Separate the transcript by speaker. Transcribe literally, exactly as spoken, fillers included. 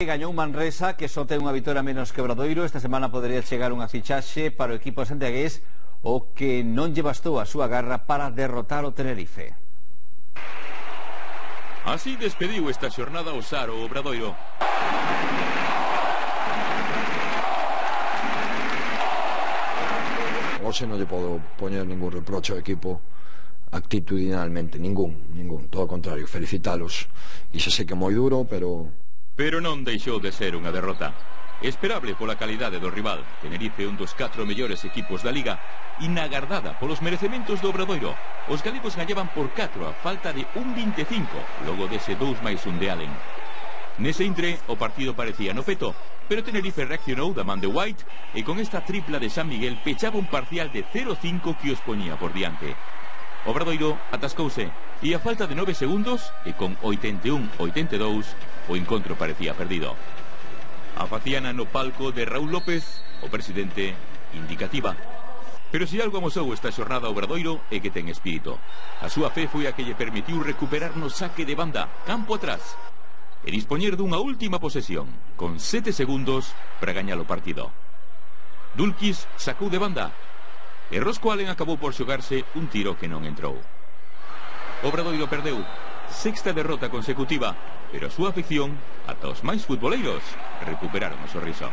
Speaker 1: Gañou Manresa, que só ten unha vitoria menos que Obradoiro. Esta semana podería chegar unha fichaxe para o equipo santiagués, o que non lle bastou a súa garra para derrotar o Tenerife.
Speaker 2: Así despediu esta xornada o Sar o Obradoiro.
Speaker 3: Hoxe non lle podo poñer ningún reproche ao equipo actitudinalmente, ningún, ningún, todo o contrario, felicitalos. E xa sei que é moi duro, pero...
Speaker 2: Pero non deixou de ser unha derrota. Esperable pola calidade do rival. Tenerife, un dos catro mellores equipos da Liga, inagardada polos merecementos do Obradoiro. Os galegos gañaban por catro a falta de un veinticinco, logo dese dous máis un de Allen. Nese intre, o partido parecía no peto, pero Tenerife reaccionou da man de White e con esta tripla de San Miguel pechaba un parcial de cero cinco que os poñía por diante. Obradoiro atascouse e a falta de nove segundos e con oitenta e un a oitenta e dous o encontro parecía perdido. A faciana no palco de Raúl López, o presidente, indicativa. Pero se algo amosou esta xornada Obradoiro é que ten espírito. A súa fe foi a que lle permitiu recuperar no saque de banda, campo atrás, e dispoñer dunha última posesión, con sete segundos para gañar o partido. Dulkis sacou de banda, e Rosco Allen acabou por xogarse un tiro que non entrou. Obradoiro perdeu, sexta derrota consecutiva, pero a súa afección, ata os máis futboleiros, recuperaron o sorriso.